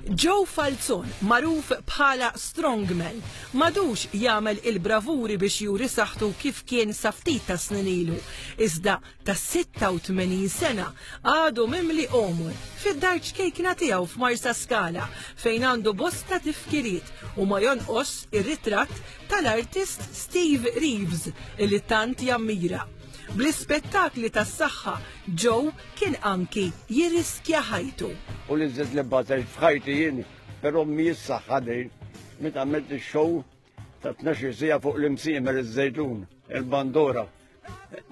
Joe Falzon, magħruf bħala Strongman, m'għadux jagħmel il-bravuri biex juri saħħtu kif kien sa ftit ta' snin ilu, iżda ta' 86 sena għadu mimli għomor fid-dar ċkejkna tiegħu f'Marsaskala fejn għandu bosta tifkiriet u ma jonqos ir-ritratt tal-artist Steve Reeves li tant jammira. Bl-ispettakli tas-saħħa Joe kien anki jirriskja ħajtu. U li żed li batejt f'ħajti jien, però mhijiex saħħa din. Meta għamilt ix-show ta' 12 sija fuq l-imsiemer iż-żejtun, il-bandora.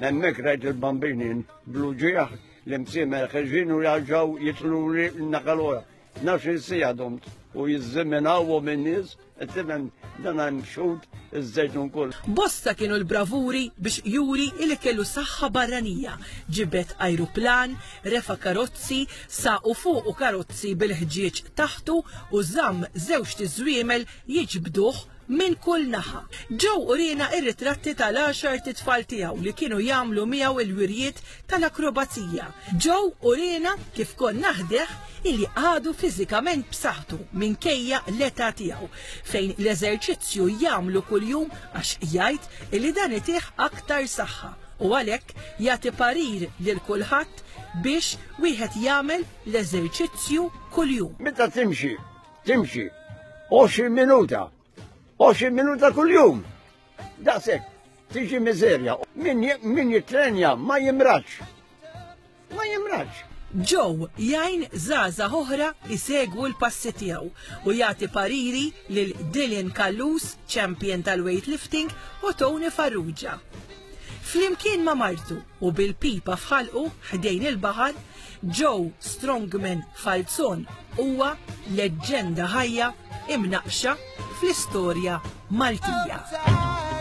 Hemmhekk rajt il-bambini bl-uġieħ l-imsiemer ħeġin u jarġgħu jitlu li nakalora. 12 sija domt u jizziminawhom in-nies Tifhem dan hemm xhud iż-żejtun kull. Bosta kienu l-bravuri biex juri li kellu saħħa barranija. Ġibed ajruplan, refa' karozzi, saqu fuqu karozzi bil-ħġieġ taħtu u żamm żewġt iżwiemel jiġbduh minn kull naħa. Joe uriena r-ritratti tal-għaxart itfal tiegħu li kienu jagħmlu miegħu l-wirjiet tal-akrobazija. Joe uriena kif konna ħdejh illi għadu fiżikament b'saħħtu minkejja l-età tiegħu, fejn l-eżerċizzju jagħmlu kuljum għax jgħid illi dan itih aktar saħħa u għalhekk jagħti parir lil kulħadd biex wieħed jagħmel l-eżerċizzju kuljum. Meta timxi, timxi 20 minuta, 20 minuta kuljum. Daqshekk, tiġi miżerja. Min, min jitrenja ma jimrax. Ma jimrax. Joe jgħin żgħażagħ oħra jsegwu l-passi tiegħu u jagħti pariri lil Dylan Callus, champion tal-weightlifting, u Tony Farrugia. Flimkien ma' martu u bil-pipa f'ħalqu ħdejn il-baħar, Joe Strongman Falzon huwa leġġenda ħajja imnaqqxa fl-istorja Maltija.